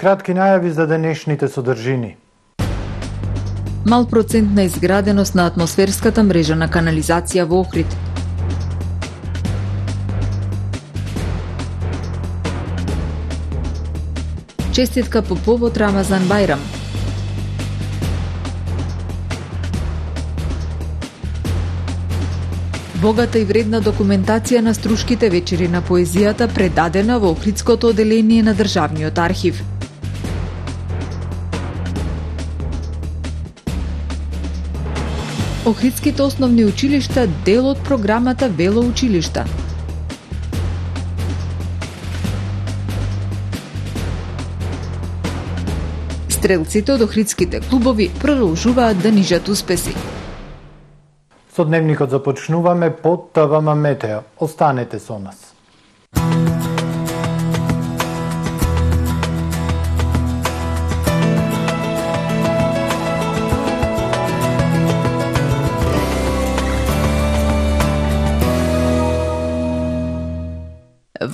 кратки најави за денешните содржини. Мал процент на изграденост на атмосферската мрежа на канализација во Охрид. Честитка по повод Рамазан Бајрам. Богата и вредна документација на Струшките вечери на поезијата предадена во Охридското оделение на Државниот архив. Охридските основни училишта дел од програмата Велоучилишта. Стрелците од охридските клубови продолжуваат да нижат успеси. Со дневникот започнуваме под ТВМ Метео. Останете со нас.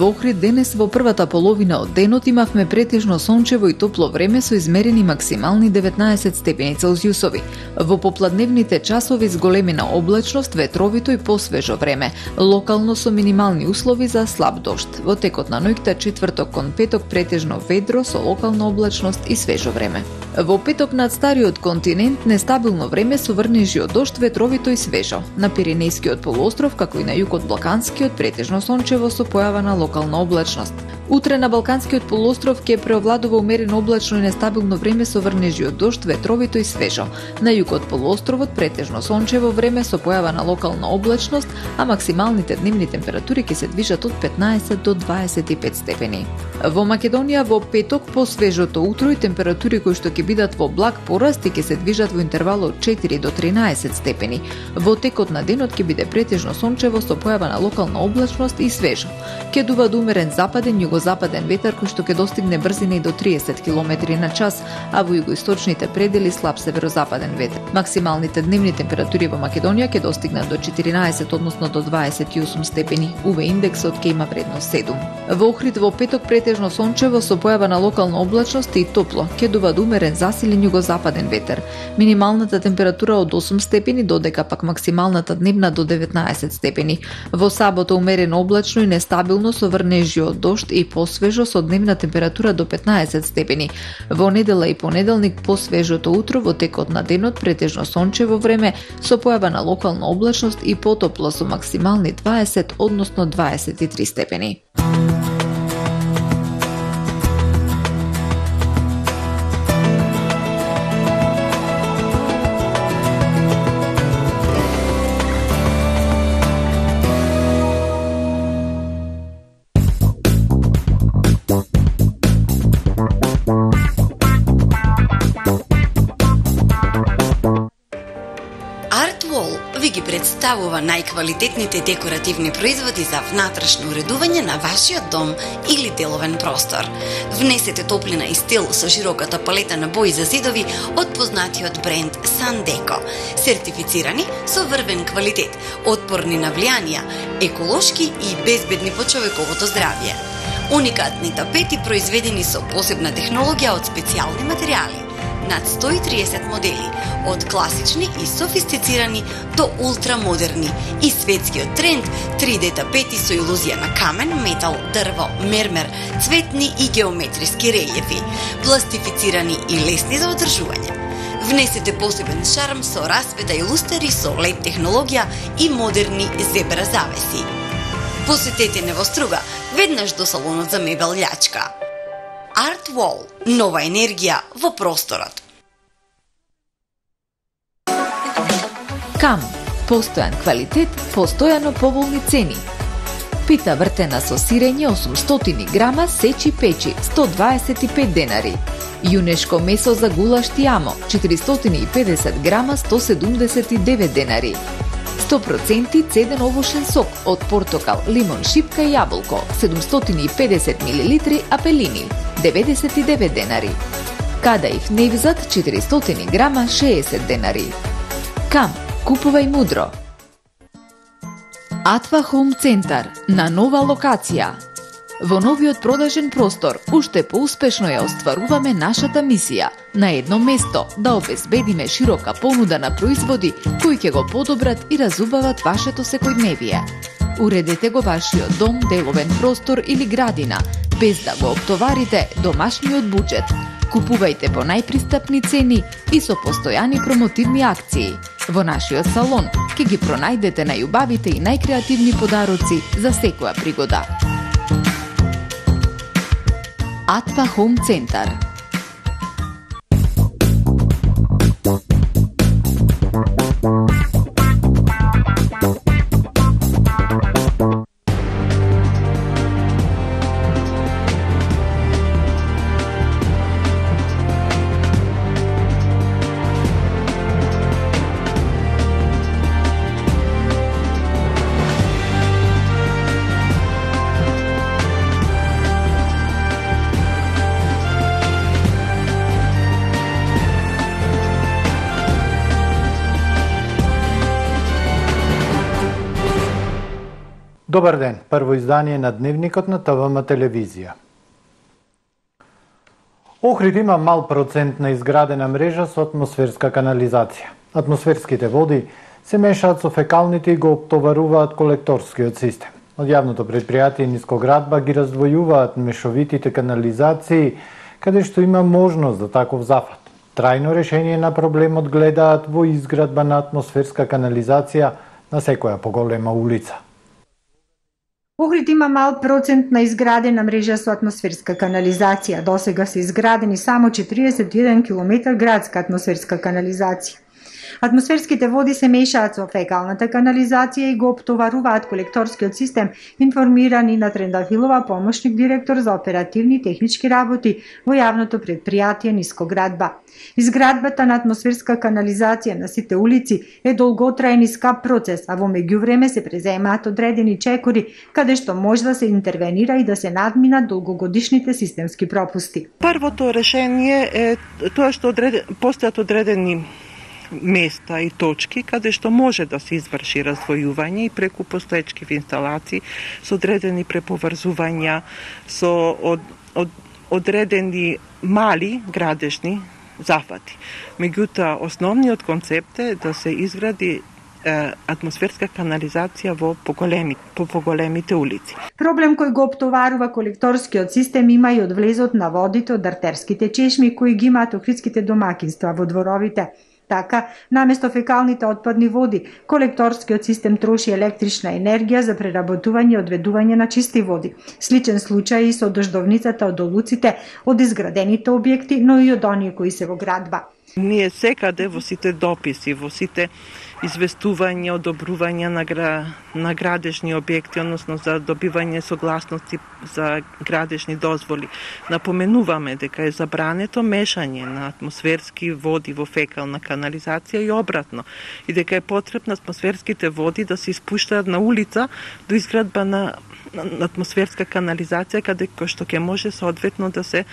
Во Охрид денес во првата половина од денот имавме претежно сончево и топло време со измерени максимални 19 степени Целзиусови. Во попладневните часови зголемена облачност, ветровито и посвежо време, локално со минимални услови за слаб дожд. Во текот на ноќта четврток кон петок претежно ведро со локална облачност и свежо време. Во петок над стариот континент нестабилно време со врнежи од дожд, ветровито и свежо. На Пиренејскиот полуостров, како и на југот Балканскиот, претежно сончево со појава на локална облачност. Утре на Балканскиот полуостров ќе преовладува умерено облачно и нестабилно време со врнежи од дожд, ветровито и свежо. На југот полуостровот претежно сончево време со појава на локална облачност, а максималните дневни температури ќе се движат од 15 до 25 степени. Во Македонија во петок по свежото утро и температури кои што ќе бидат во благ пораст и ќе се движат во интервал од 4 до 13 степени. Во текот на денот ќе биде претежно сончево со појава на локална облачност и свежо. Ќе дува до умерен западен југозападен ветер кој што ќе достигне брзина и до 30 км на час, а во југоисточните предели слаб северозападен ветер. Максималните дневни температури во Македонија ќе достигнат до 14, односно до 28 степени. УВ индексот ќе има вредност 7. Во Охрид во петок претежно сончево со појава на локална облачност и топло. Ќе дува до умерен засилен југозападен ветер. Минималната температура од 8 степени, додека пак максималната дневна до 19 степени. Во сабота умерено облачно и нестабилно со врнежи од дожд и посвежо со дневна температура до 15 степени. Во недела и понеделник посвежото утро, во текот на денот претежно сончево време со појава на локална облачност и потопло со максимални 20, односно 23 степени. Представува најквалитетните декоративни производи за внатрешно уредување на вашиот дом или деловен простор. Внесете топлина и стил со широката палета на бои за зидови од познатиот бренд Sandeco. Сертифицирани со врвен квалитет, отпорни на влијанија, еколошки и безбедни по човековото здравје. Уникатни тапети произведени со посебна технологија од специјални материјали. Над 130 модели, од класични и софистицирани до ултрамодерни и светскиот тренд 3D тапети со илузија на камен, метал, дрво, мермер, цветни и геометриски релјефи, пластифицирани и лесни за одржување. Внесете посебен шарм со расвета и лустери со LED технологија и модерни зебра завеси. Посетете Невоструга, веднаш до салонот за мебел Љачка. Art Wall – нова енергија во просторот. КАМ – постојан квалитет, постојано поволни цени. Пита вртена со сирење 800 грама сечи печи 125 денари. Јунешко месо за гулаш тиамо 450 грама 179 денари. 100% цеден овошен сок од портокал, лимон, шипка и јаболко 750 мл апелини 99 денари. Кадаив невзат 400 грама 60 денари. КАМ, купувај мудро. Атва Хоум Центар на нова локација. Во новиот продажен простор, уште поуспешно ја остваруваме нашата мисија. На едно место да обезбедиме широка понуда на производи кои ќе го подобрат и разубават вашето секојдневие. Уредете го вашиот дом, деловен простор или градина, без да го оптоварите домашниот буџет. Купувајте по најпристапни цени и со постојани промотивни акции. Во нашиот салон ќе ги пронајдете најубавите и најкреативни подароци за секоја пригода. Атпа Home Центар. Добар ден, прво издание на Дневникот на ТВМ телевизија. Охрид има мал процент на изградена мрежа со атмосферска канализација. Атмосферските води се мешаат со фекалните и го оптоваруваат колекторскиот систем. Од јавното предпријатие Нискоградба ги раздвојуваат мешовитите канализации, каде што има можност за таков зафат. Трајно решение на проблемот гледаат во изградба на атмосферска канализација на секоја поголема улица. Охрид има мал процент на изградена мрежа со атмосферска канализација. Досега се изградени само 41 км градска атмосферска канализација. Атмосферските води се мешаат со фекалната канализација и го оптоваруваат колекторскиот систем, информира Нина Трендафилова, помошник директор за оперативни и технички работи во јавното предпријатие Нискоградба. Изградбата на атмосферска канализација на сите улици е долготраен и скап процес, а во меѓувреме се преземаат одредени чекори каде што може да се интервенира и да се надминат долгогодишните системски пропусти. Првото решение е тоа што постојат одредени места и точки каде што може да се изврши раздвојување и преку постоечки инсталации со одредени преповрзувања, со одредени мали градежни зафати. Меѓутоа, основниот концепт е да се изгради атмосферска канализација по поголемите улици. Проблем кој го оптоварува колекторскиот систем има и од влезот на водите од артерските чешми кои ги имаат охридските домакинства во дворовите. Така, наместо фекалните отпадни води, колекторскиот систем троши електрична енергија за преработување и одведување на чисти води. Сличен случај и со дождовницата од олуците од изградените објекти, но и од оние кои се во градба. Ние секаде во сите дописи, во сите известувања, одобрувања на градежни објекти, односно за добивање согласности за градежни дозволи, напоменуваме дека е забрането мешање на атмосферски води во фекална канализација и обратно, и дека е потребно атмосферските води да се испуштаат на улица до изградба на атмосферска канализација, каде што ќе може соодветно да се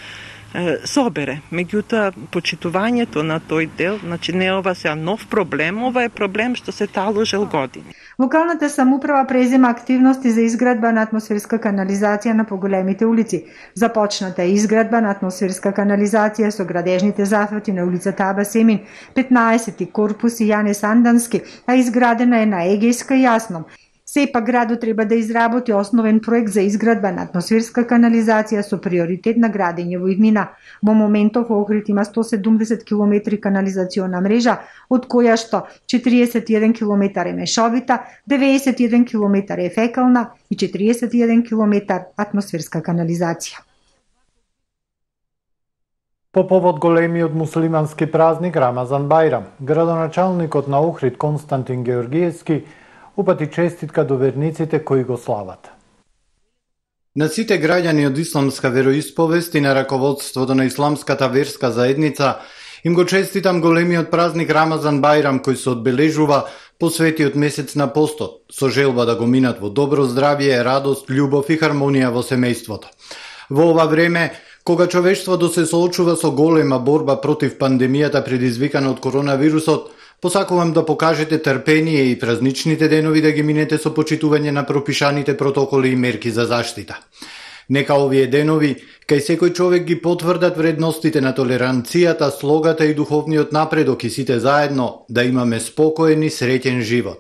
собере. Меѓутоа, почитувањето на тој дел, значи не ова се нов проблем, ова е проблем што се таложел години. Локалната самоуправа презема активности за изградба на атмосферска канализација на поголемите улици. Започната е изградба на атмосферска канализација со градежните зафати на улицата Аба Семин, 15 корпус и Јане Сандански, а изградена е на Егејска и Јасном. Сепак градот треба да изработи основен проект за изградба на атмосферска канализација со приоритет на градење во иднина. Во моментов во Охрид има 170 км канализациона мрежа, од која што 41 км е мешовита, 91 км е фекална и 41 км атмосферска канализација. По повод големиот муслимански празник Рамазан Бајрам, градоначалникот на Охрид Константин Георгиевски упати честитка до верниците кои го слават. На сите граѓани од исламска вероисповест и на раководството на исламската верска заедница им го честитам големиот празник Рамазан Бајрам кој се одбележува посветиот месец на постот, со желба да го минат во добро здравје, радост, љубов и хармонија во семејството. Во ова време, кога човештвото се соочува со голема борба против пандемијата предизвикана од коронавирусот, посакувам да покажете трпение и празничните денови да ги минете со почитување на пропишаните протоколи и мерки за заштита. Нека овие денови кај секој човек ги потврдат вредностите на толеранцијата, слогата и духовниот напредок и сите заедно да имаме спокоен и среќен живот.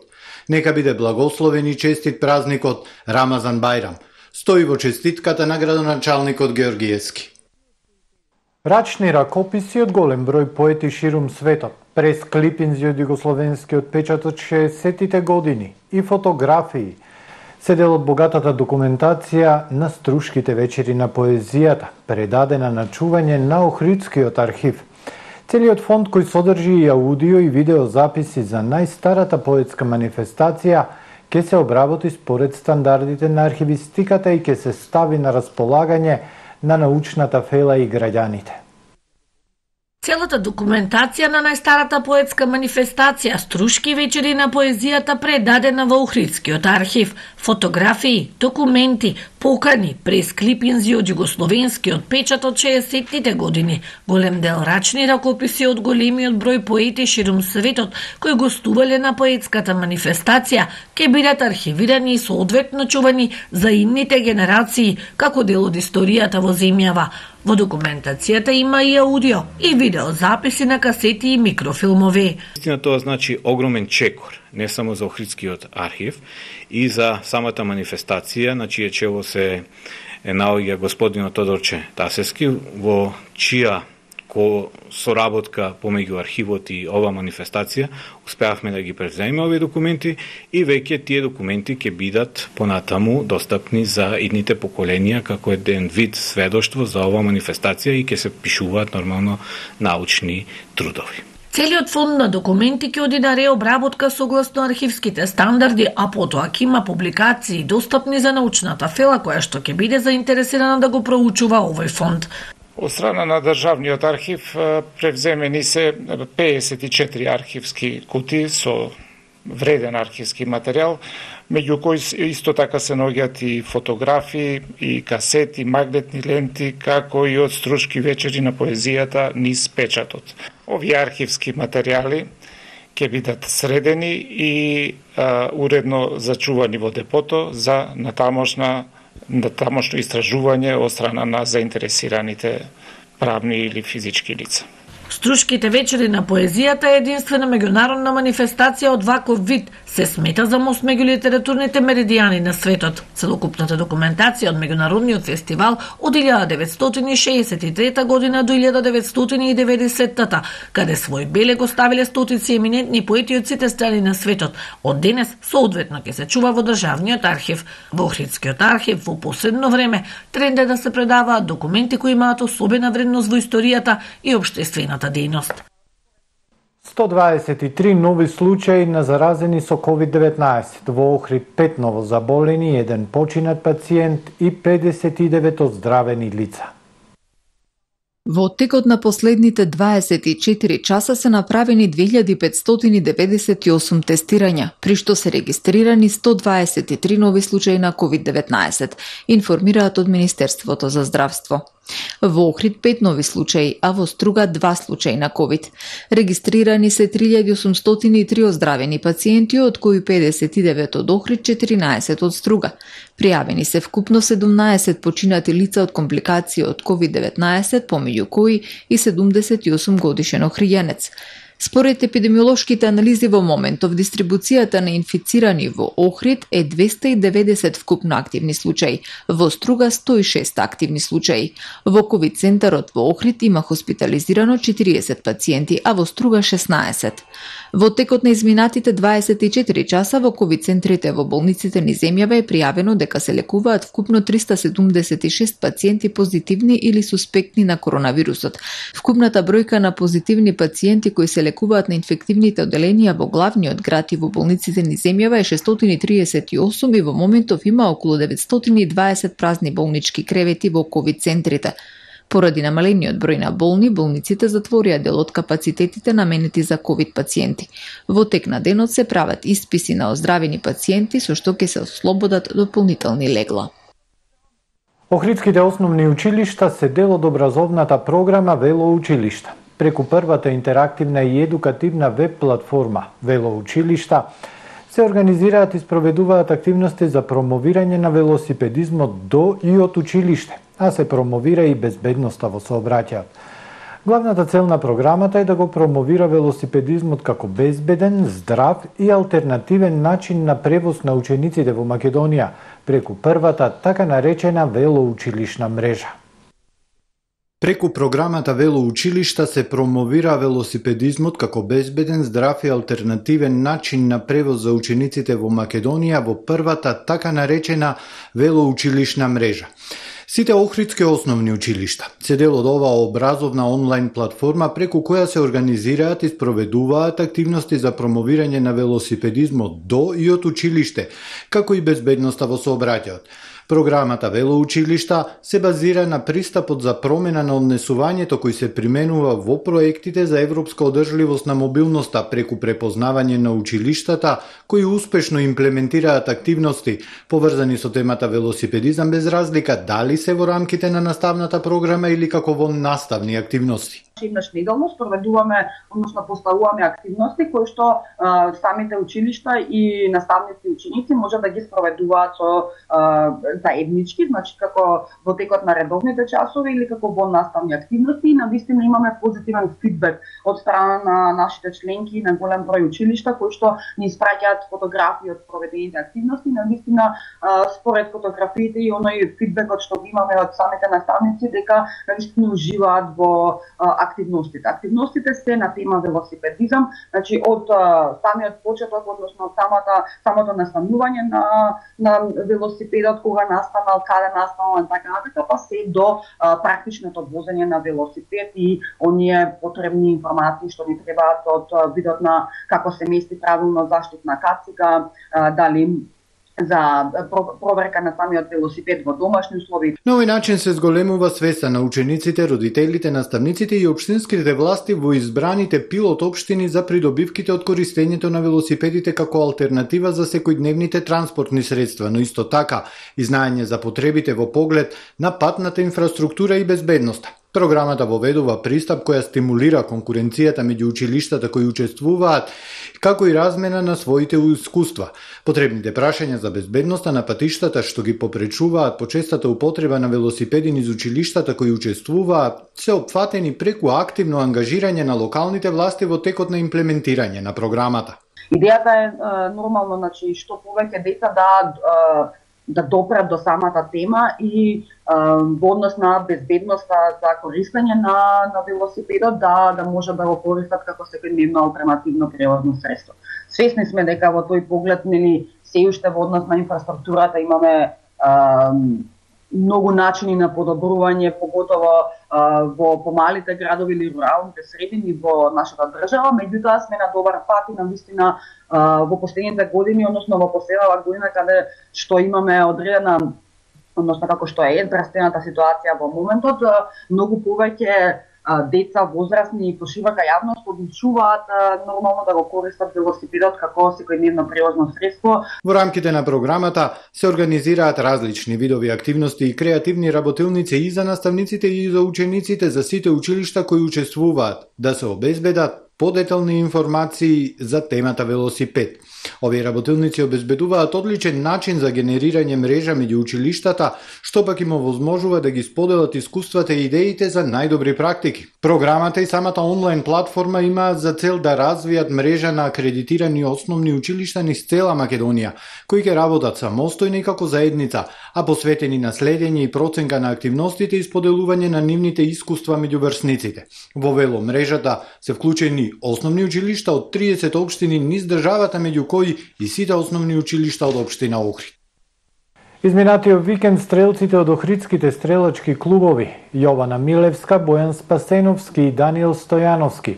Нека биде благословен и честит празникот Рамазан Бајрам. Стои во честитката на градоначалникот Георгиевски. Рачни ракописи од голем број поети ширум светот, прес клипинзи од југословенскиот печат од 60-тите години и фотографии се дел од богатата документација на Струшките вечери на поезијата, предадена на чување на Охридскиот архив. Целиот фонд кој содржи и аудио и видео записи за најстарата поетска манифестација ќе се обработи според стандардите на архивистиката и ќе се стави на располагање на научната фела и граѓаните. Целата документација на најстарата поетска манифестација Струшки вечери на поезијата предадена во Охридскиот архив, фотографии, документи, покани, пресклипинзи од југословенскиот печат од 60-тите години, голем дел рачни ракописи од големиот број поети ширум светот кои гостувале на поетската манифестација, ќе бидат архивирани и соодветно чувани за идните генерации како дел од историјата во земјава. Во документацијата има и аудио и видео записи на касети и микрофилмови. Истина тоа значи огромен чекор, не само за Охридскиот архив и за самата манифестација, на чие чело се наоѓа господинот Тодорче Тасевски, во чија соработка помеѓу архивот и ова манифестација успеавме да ги превземеме овие документи и веќе тие документи ќе бидат понатаму достапни за идните поколенија како еден вид сведоштво за ова манифестација и ќе се пишуваат нормално научни трудови. Целиот фонд на документи ќе оди на реобработка согласно архивските стандарди, а потоа ќе има публикации достапни за научната фела која што ќе биде заинтересирана да го проучува овој фонд. Од страна на Државниот архив превземени се 54 архивски кутии со вреден архивски материјал, меѓу кои исто така се наоѓаат и фотографии, и касети, магнетни ленти, како и од Струшки вечери на поезијата низ печатот. Овие архивски материјали ќе бидат средени и уредно зачувани во депото за натамошно истражување од страна на заинтересираните правни или физички лица. Струшките вечери на поезијата е единствена меѓународна манифестација од ваков вид. Се смета за мост меѓу литературните меридијани на светот. Целокупната документација од меѓународниот фестивал од 1963 година до 1990-та, каде свој белег оставиле стотици еминентни поети од сите страни на светот. Од денес соодветно ќе се чува во Државниот архив. Во Охридскиот архив во последно време тренд е да се предаваат документи кои имаат особена вредност во историјата и општествената дејност. 123 нови случаи на заразени со COVID-19. Во Охрид 5 ново заболени, 1 починат пациент и 59 оздравени лица. Во текот на последните 24 часа се направени 2598 тестирања, при што се регистрирани 123 нови случаи на COVID-19, информираат од Министерството за здравство. Во Охрид 5 нови случаи, а во Струга 2 случаи на COVID. Регистрирани се 3803 оздравени пациенти, од кои 59 од Охрид, 14 од Струга. Пријавени се вкупно 17 починати лица од компликации од COVID-19, помеѓу кои и 78 годишен охријанец. Според епидемиолошките анализи во моментов, дистрибуцијата на инфицирани во Охрид е 290 вкупно активни случаи, во Струга 106 активни случаи. Во ковид центарот во Охрид има хоспитализирано 40 пациенти, а во Струга 16. Во текот на изминатите 24 часа во ковид центрите во болниците низ земјава е пријавено дека се лекуваат вкупно 376 пациенти позитивни или суспектни на коронавирусот. Вкупната бројка на позитивни пациенти кои се лекуваат на инфективните оделенија во главниот град и во болниците низ земјава е 638 и во моментов има околу 920 празни болнички кревети во ковид центрите. Поради намалениот број на болни, болниците затворија дел од капацитетите наменети за ковид пациенти. Во тек на денот се прават исписи на оздравени пациенти со што ќе се ослободат дополнителни легла. Охридските основни училишта се дел од образовната програма Вело училишта. Преку првата интерактивна и едукативна веб платформа Вело училишта се организираат и спроведуваат активности за промовирање на велосипедизмот до и од училиште, а се промовира и безбедноста во сообраќајот. Главната цел на програмата е да го промовира велосипедизмот како безбеден, здрав и алтернативен начин на превоз на учениците во Македонија преку првата така наречена велоучилишна мрежа. Преку програмата Велоучилишта се промовира велосипедизмот како безбеден, здрав и алтернативен начин на превоз за учениците во Македонија во првата така наречена велоучилишна мрежа. Сите охридски основни училишта се дел од оваа образовна онлайн платформа преку која се организираат и спроведуваат активности за промовирање на велосипедизмот до и од училиште, како и безбедноста во сообраќајот. Програмата Велоучилишта се базира на пристапот за промена на однесувањето кој се применува во проектите за европска одржливост на мобилноста преку препознавање на училиштата кои успешно имплементираат активности поврзани со темата велосипедизам без разлика дали се во рамките на наставната програма или како во наставни активности. Еднаш неделно спроведуваме, односно поставуваме активности кои што самите училишта и наставници и ученици може да ги спроведуваат со заеднички, значи како во текот на редовните часови или како во наставни активности и навистина имаме позитивен фидбек од страна на нашите членки на голем број училишта кои што ни испраќаат фотографии од проведените активности, навистина според фотографиите и оној фидбекот што ги имаме од самите наставници дека навистина уживаат во активностите. Активностите се на тема велосипедизам, значи од самиот почеток, односно од самото настанување на велосипедот, кога настанал, каде настанал, така натака, па се до практичното возење на велосипед и оние потребни информации што ни требаат од видот на како се мести правилно заштитна кацига, дали за проверка на самиот велосипед во домашни услови. На овој начин се зголемува свеста на учениците, родителите, наставниците и општинските власти во избраните пилот општини за придобивките од користењето на велосипедите како алтернатива за секојдневните транспортни средства, но исто така и знаење за потребите во поглед на патната инфраструктура и безбедноста. Програмата воведува пристап која стимулира конкуренцијата меѓу училиштата кои учествуваат, како и размена на своите искуства. Потребните прашања за безбедноста на патиштата што ги попречуваат почестата употреба на велосипеди низ училиштата кои учествуваат, се опфатени преку активно ангажирање на локалните власти во текот на имплементирање на програмата. Идејата е нормално, значи што повеќе деца да допрат до самата тема и во однос на безбедноста за користење на велосипедот да може да го користат како секојдневно алтернативно превозно средство. Свесни сме дека во тој поглед се уште во однос на инфраструктурата имаме многу начини на подобрување, поготово во помалите градови или руралните средини во нашата држава, меѓутоа сме на добар пат и навистина во последните години, односно во последната година каде што имаме одредена, односно како што е здравствената ситуација во моментот, многу повеќе деца, возрастни и поширока јавност одлучуваат нормално да го користат велосипедот како секојдневно превозно средство. Во рамките на програмата се организираат различни видови активности и креативни работилници и за наставниците и за учениците за сите училишта кои учествуваат, да се обезбедат подетални информации за темата велосипед. Овие работилници обезбедуваат одличен начин за генерирање мрежа меѓу училиштата, што пак им овозможува да ги споделат искуствата и идеите за најдобри практики. Програмата и самата онлайн платформа имаат за цел да развијат мрежа на акредитирани основни училишта низ цела Македонија, кои ќе работат самостојно и како заедница, а посветени на следење и проценка на активностите и споделување на нивните искуства меѓу врсниците. Во вело мрежата се вклучени основни училишта од 30 општини низ државата, меѓу кои и сите основни училишта од општина Охрид. Изминатиот викенд стрелците од охридските стрелачки клубови Јована Милевска, Бојан Спасеновски и Даниел Стојановски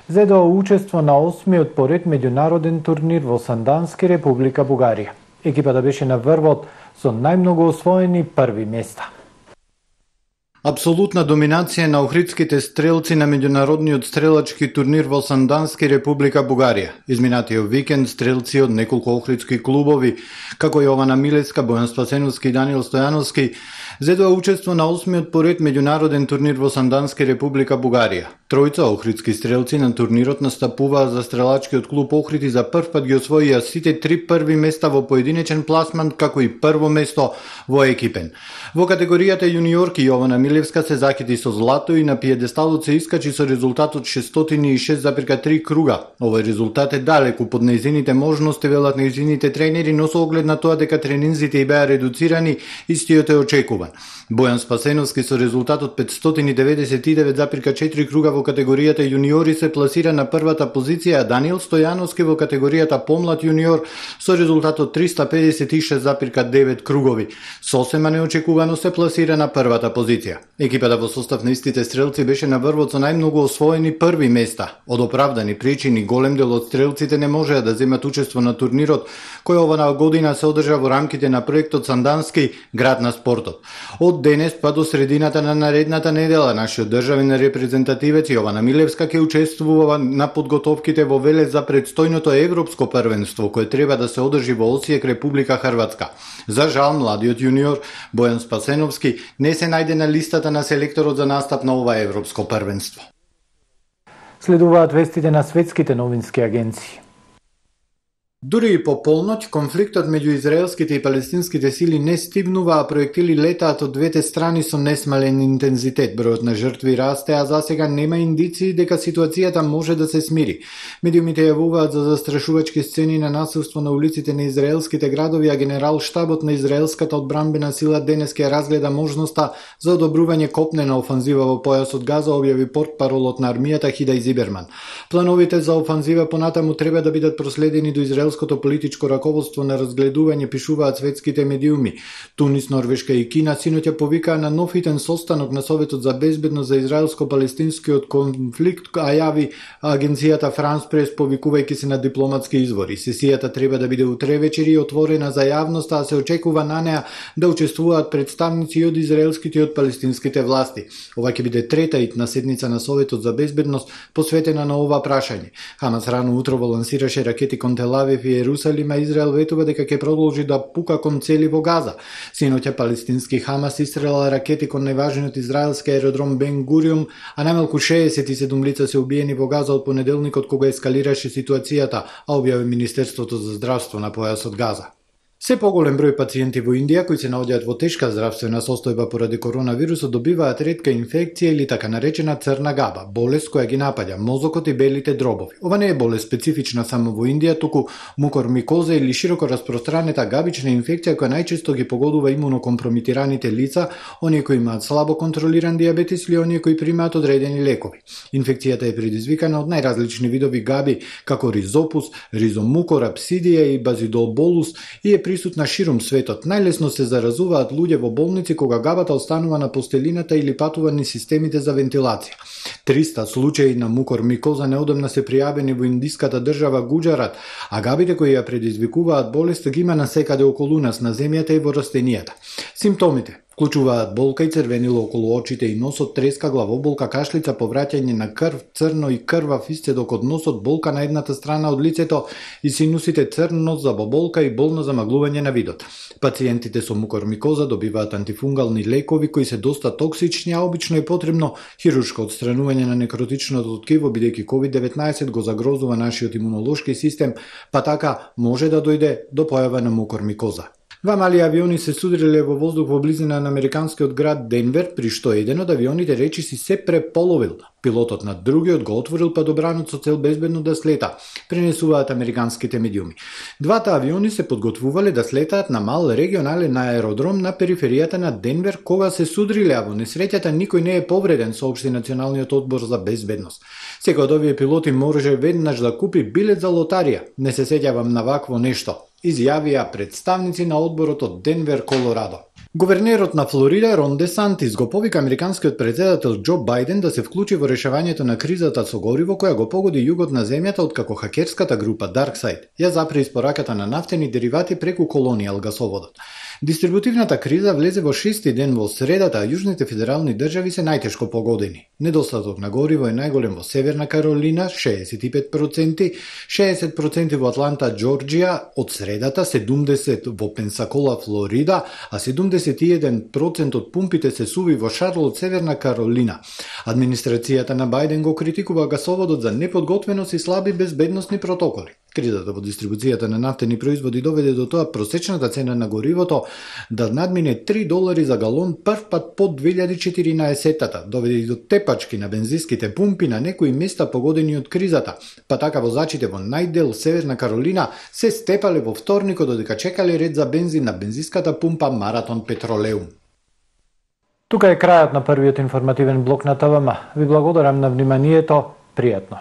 зедоа учество на 8-миот поред меѓународен турнир во Сандански, Република Бугарија. Екипата беше на врвот со најмногу освоени први места. Апсолутна доминација на охридските стрелци на меѓународниот стрелачки турнир во Сандански, Република Бугарија. Изминатиот викенд стрелци од неколку охридски клубови, како Јована Милевска, Бојан Спасеновски и Даниел Стојановски, Зедоа учество на 8-миот поред меѓународен турнир во Сандански Република Бугарија. Тројца охридски стрелци на турнирот настапуваа за стрелачкиот клуб Охрид и за прв пат ги освоија сите 3 први места во поединечен пласман, како и прво место во екипен. Во категоријата јуниорки Јована Милевска се закити со злато и на пиедесталот се искачи со резултатот 606,3 круга. Овој резултат е далеку под нејзините можности, велат нејзините тренери, но со оглед на тоа дека тренинзите и беа редуцирани, истиот е очекуван. Бојан Спасеновски со резултатот 599,4 круга во категоријата јуниори се пласира на првата позиција, а Даниел Стојановски во категоријата помлад јуниор со резултатот 356,9 кругови. Сосема неочекувано се пласира на првата позиција. Екипата во состав на истите стрелци беше на врвот со најмногу освоени први места. Од оправдани причини голем дел од стрелците не можеа да земат учество на турнирот, кој оваа година се одржа во рамките на проектот Сандански град на спортот. Од денес па до средината на наредната недела нашиот државен репрезентативец Јована Милевска ќе учествува на подготовките во Велес за предстојното европско првенство кое треба да се одржи во Осијек, Република Хрватска. За жал, младиот јуниор Бојан Спасеновски не се најде на листата на селекторот за настап на ова европско првенство. Следуваат вестите на светските новински агенции. Дури и по полноќ, конфликтот меѓу израелските и палестинските сили не стивнува, а проектили летаат од двете страни со несмален интензитет. Бројот на жртви расте, а засега нема индиции дека ситуацијата може да се смири. Медиумите јавуваат за застрашувачки сцени на насилство на улиците на израелските градови, а генерал штабот на израелската одбранбена сила денес ќе разгледа можноста за одобрување копнена офанзива во појасот Газа, објави портпаролот на армијата Хидај Зиберман. Плановите за офанзива понатаму треба да бидат проследени до израелското политичко раководство на разгледување, пишуваат светските медиуми. Тунис, Норвешка и Кина синоќа повикаа на нов итен состанок на Советот за безбедност за израелско-палестинскиот конфликт, а јави агенцијата Франс Прес, повикувајќи се на дипломатски извори. Сесијата треба да биде утре вечери и отворена за јавноста, а се очекува на неа да учествуваат представници од израелските и од палестинските власти. Ова ќе биде трета итна седница на Советот за безбедност посветена на ова прашање. Хамас рано утрово лансираше ракети кон Тел Авив и Ерусалим, а Израел ветува дека ќе продолжи да пука кон цели во Газа. Синоќа палестински Хамас истрела ракети кон најважниот израелски аеродром Бен Гуриум, а најмалку 67 лица се убиени во Газа од понеделникот кога ескалираше ситуацијата, а објави Министерството за здравство на појасот Газа. Се поголем број пациенти во Индија кои се наоѓаат во тешка здравствена состојба поради коронавирусот добиваат ретка инфекција или така наречена црна габа, болест која ги напаѓа мозокот и белите дробови. Ова не е болест специфична само во Индија, туку мукормикоза или широко распространета габична инфекција која најчесто ги погодува имунокомпромитираните лица, оние кои имаат слабо контролиран диабетес или оние кои примаат одредени лекови. Инфекцијата е предизвикана од најразлични видови габи, како ризопус, ризомукор, апсидија и базидолболус и е присутна ширум светот. Најлесно се заразуваат луѓе во болници кога габата останува на постелината или патува низ системите за вентилација. 300 случаи на мукормикоза неодамна се пријавени во индиската држава Гуџарат, а габите кои ја предизвикуваат болест ги има насекаде околу нас на земјата и во растенијата. Симптомите вклучуваат болка и црвенило околу очите и носот, треска, главоболка, кашлица, повраќање на крв, црно и крвав исцедок од носот, болка на едната страна од лицето и синусите, црн нос, забоболка и болно замаглување на видот. Пациентите со мукормикоза добиваат антифунгални лекови кои се доста токсични, а обично е потребно хируршко отстранување на некротичното ткиво, бидејќи COVID-19 го загрозува нашиот имунолошки систем, па така може да дојде до појава на мукормикоза. Два мали авиони се судриле во воздух во близина на американскиот град Денвер, при што еден од авионите речиси се преполовил. Пилотот на другиот го отворил падобранот со цел безбедно да слета, пренесуваат американските медиуми. Двата авиони се подготвувале да слетаат на мал регионален аеродром на периферијата на Денвер кога се судриле, а во несреќата никој не е повреден, соопшти Националниот одбор за безбедност. Секој од овие пилоти може веднаш да купи билет за лотарија. Не се сеќавам на вакво нешто, изјавија представници на одборот од Денвер, Колорадо. Гувернерот на Флорида Рон Де Сантис го повика американскиот претседател Џо Бајден да се вклучи во решавањето на кризата со гориво која го погоди југот на земјата откако хакерската група DarkSide ја запре испораката на нафтени деривати преку колонијал гасоводот. Дистрибутивната криза влезе во 6-ти ден во средата, а јужните федерални држави се најтешко погодени. Недостаток на гориво е најголем во Северна Каролина, 65%, 60% во Атланта, Џорџија, од средата 70% во Пенсакола, Флорида, а 71% од пумпите се суви во Шарлот, Северна Каролина. Администрацијата на Бајден го критикува гасоводот за неподготвеност и слаби безбедносни протоколи. Кризата во дистрибуцијата на нафтени производи доведе до тоа просечната цена на горивото да надмине $3 за галон прв пат под 2014-тата, доведе и до тепачки на бензинските пумпи на некои места погодени од кризата, па така возачите во најдел Северна Каролина се степале во вторникот додека чекале ред за бензин на бензинската пумпа Маратон Петролеум. Тука е крајот на првиот информативен блок на ТВМ. Ви благодарам на вниманието. Пријатно.